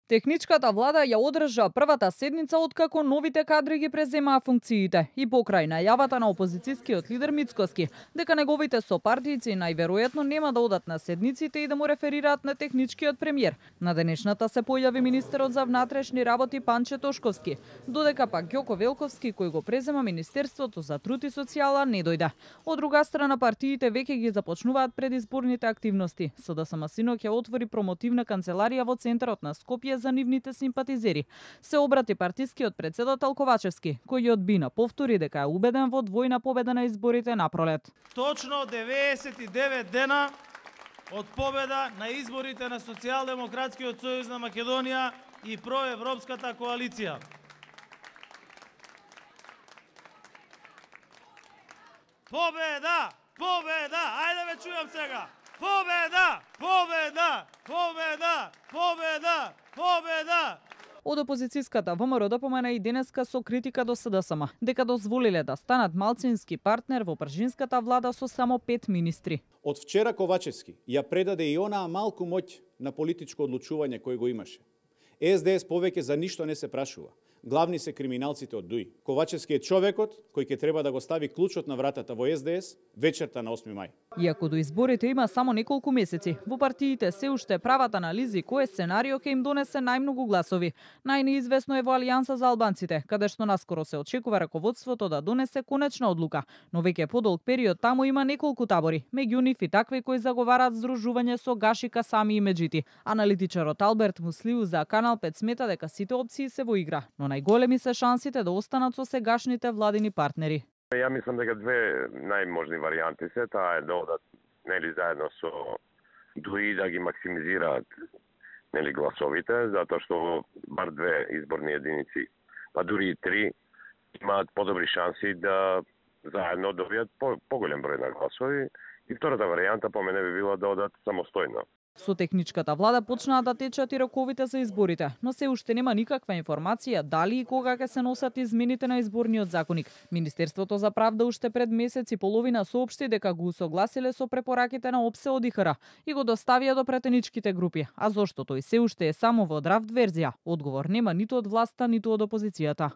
Техничката влада ја одржа првата седница откако новите кадри ги преземаа функциите и покрај најавата на опозицијскиот лидер Мицкоски дека неговите сопартијци најверојатно нема да одат на седниците и да му реферираат на техничкиот премиер. На денешната се појави министерот за внатрешни работи Панче Тошковски, додека пак Ѓоко Велковски кој го презема Министерството за труд и социјала не дојде. Од друга страна партиите веќе ги започнуваат предизборните активности. СДСМ синоќ ја отвори промотивна канцеларија во центарот на Скопје за нивните симпатизери. Се обрати партискиот председател Ковачевски, кој ја одбина повтори дека е убеден во двојна победа на изборите на пролет. Точно 99 дена од победа на изборите на Социјалдемократскиот сојуз на Македонија и проевропската коалиција. Победа! Победа! Ајде ве чујам сега! Победа! Победа! Победа! Победа! Победа! Од опозицијската ВМРО допомена и денеска со критика до СДСМ, дека дозволиле да станат малцински партнер во пржинската влада со само 5 министри. Од вчера Ковачевски ја предаде и онаа малку моќ на политичко одлучување кој го имаше. СДС повеќе за ништо не се прашува. Главни се криминалците од ДУИ. Ковачевски е човекот кој ќе треба да го стави клучот на вратата во СДС вечерта на 8 мај. Иако до изборите има само неколку месеци, во партиите се уште прават анализи кој сценарио ќе им донесе најмногу гласови. Најнеизвестно е во Алијанса за албанците, каде што наскоро се очекува раководството да донесе конечна одлука, но веќе подолг период таму има неколку табори, меѓу нив и такви кои заговараат здружување со Гашика Сами и Меджити. Аналитичарот Алберт Муслиу за Канал 5 смета дека сите опции се во игра, но најголеми се шансите да останат со сегашните владини партнери. Ја мислам дека две најможни варијанти се, таа е да одат нели заедно со ДУИ да ги максимизираат нели гласовите, затоа што бар две изборни единици, па дури и три, имаат подобри шанси да заедно добијат поголем број на гласови. И втората варијанта по мене би била да одат самостојно. Со техничката влада почнаа да течат и роковите за изборите, но се уште нема никаква информација дали и кога ќе се носат измените на изборниот законник. Министерството за правда уште пред месец и половина соопшти дека го усогласиле со препораките на ОПСЕ од ИХР и го доставија до претеничките групи. А зошто тој се уште е само во драфт верзија? Одговор нема ниту од власта, ниту од опозицијата.